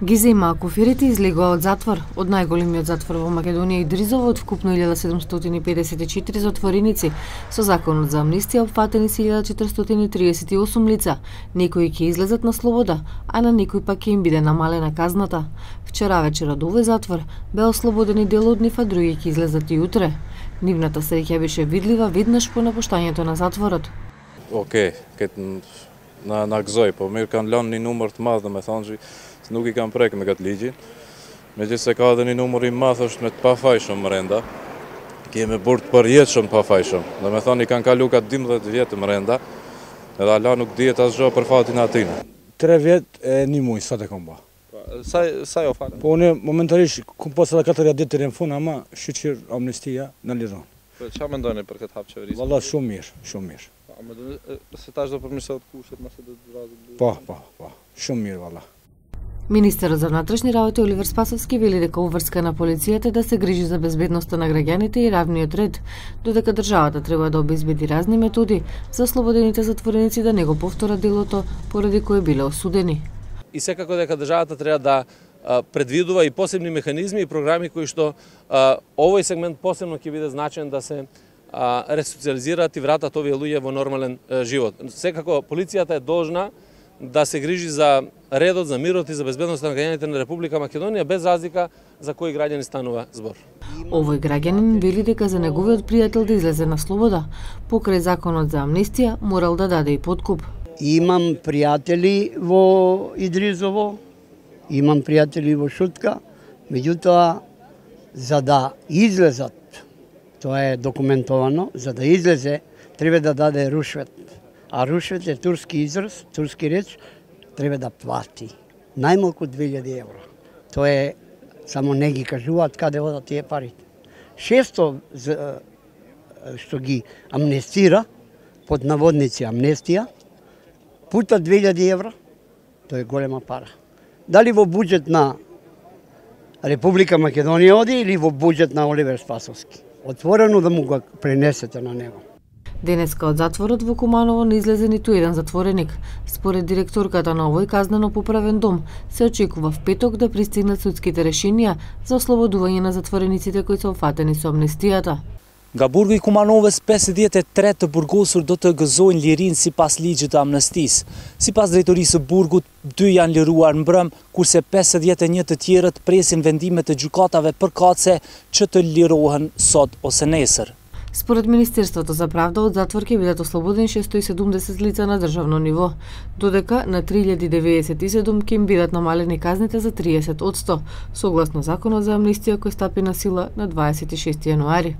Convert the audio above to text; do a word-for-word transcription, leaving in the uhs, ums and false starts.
Гиза Имакофирите излегува од затвор. Од најголемиот затвор во Македонија Идризово од вкупно илјада седумстотини педесет и четири затвореници. Со законот за амнистија опфатени се илјада четиристотини триесет и осум лица. Некои ќе излезат на слобода, а на некои пак ќе им биде намалена казната. Вчера вечер од овој затвор бе ослободени дел од нив, а други ќе излезат и утре. Нивната среќа беше видлива веднаш по напуштањето на затворот. Океј, okay, na na gëzoj, po mirë kanë lënë një numër të madh, domethënë që nuk i kanë prek me këtë ligjin. Megjithëse ka edhe një numër i madh është me të pafajshëm brenda. Kemi burg të përjetshëm të pafajshëm. Domethënë i kanë kalu ka dymbëdhjetë vjet brenda. Edhe ala nuk dihet asgjë për fatin atin. tre vjet e një muaj sa të kam bë. Sa sa jo falem. Po unë momentalisht kum pas edhe katër ditë deri në fund, ama shqyr amnistia në liron. Po çfarë mendoni për këtë hap qeverisë? Valla shumë mirë, shumë mirë. Ama se tash do përmirësohet kushtet, mëse do të vrazë. Po, po, po. Shumë mirë valla. Министерот за внатрешни работи Оливер Спасовски вели дека уврска на полицијата да се грижи за безбедноста на граѓаните и равниот ред, додека државата треба да обезбеди разни методи за ослободените затвореници да не го повторат делото поради кое биле осудени. И секако дека државата треба да предвидува и посебни механизми и програми кои што а, овој сегмент посебно ќе биде значен да се а, ресоциализираат и вратат овие луѓе во нормален а, живот. Секако полицијата е должна да се грижи за редот, за мирот и за безбедноста на граѓаните на Република Македонија без разлика за кои граѓани станува збор. Овој граѓанин вели дека за неговиот пријател да излезе на слобода, покрај законот за амнистија, морал да даде и подкуп. Имам пријатели во Идризово, имам пријатели во Шутка, меѓутоа за да излезат, тоа е документовано, за да излезе треба да даде рушвет. А рушвет е турски израз, турски реч, треба да плати. Најмалку две илјади евра. Тоа е, само не ги кажуваат каде одат тие парите. Шесто што ги амнестира, под наводници амнестија, пута две илјади евра, тоа е голема пара. Дали во буџет на Република Македонија оди или во буџет на Оливер Спасовски. Отворено да му го пренесете на него. Денеска од затворот во Куманово не излезе ниту еден затвореник. Според директорката на овој казнено поправен дом, се очекува в петок да пристигнат судските решенија за ослободување на затворениците кои се опфатени со амнестијата. Nga burgu i Kumanovës, pesëdhjetë e tre të burgosur do të gëzojnë lirinë sipas ligjit të amnestisë. Sipas drejtorisë së burgut, dy janë liruar mbrëm, kurse pesëdhjetë e një të tjerët presin vendime të gjykatave përkatëse që të lirohen sot ose nesër. Според Министерството за правда, од затвор ќе бидат ослободени шестстотини и седумдесет лица на државно ниво, додека на три илјади деветдесет и седум ќе им бидат намалени казните за триесет одсто, согласно законот за амнистија кој стапи на сила на дваесет и шести јануари.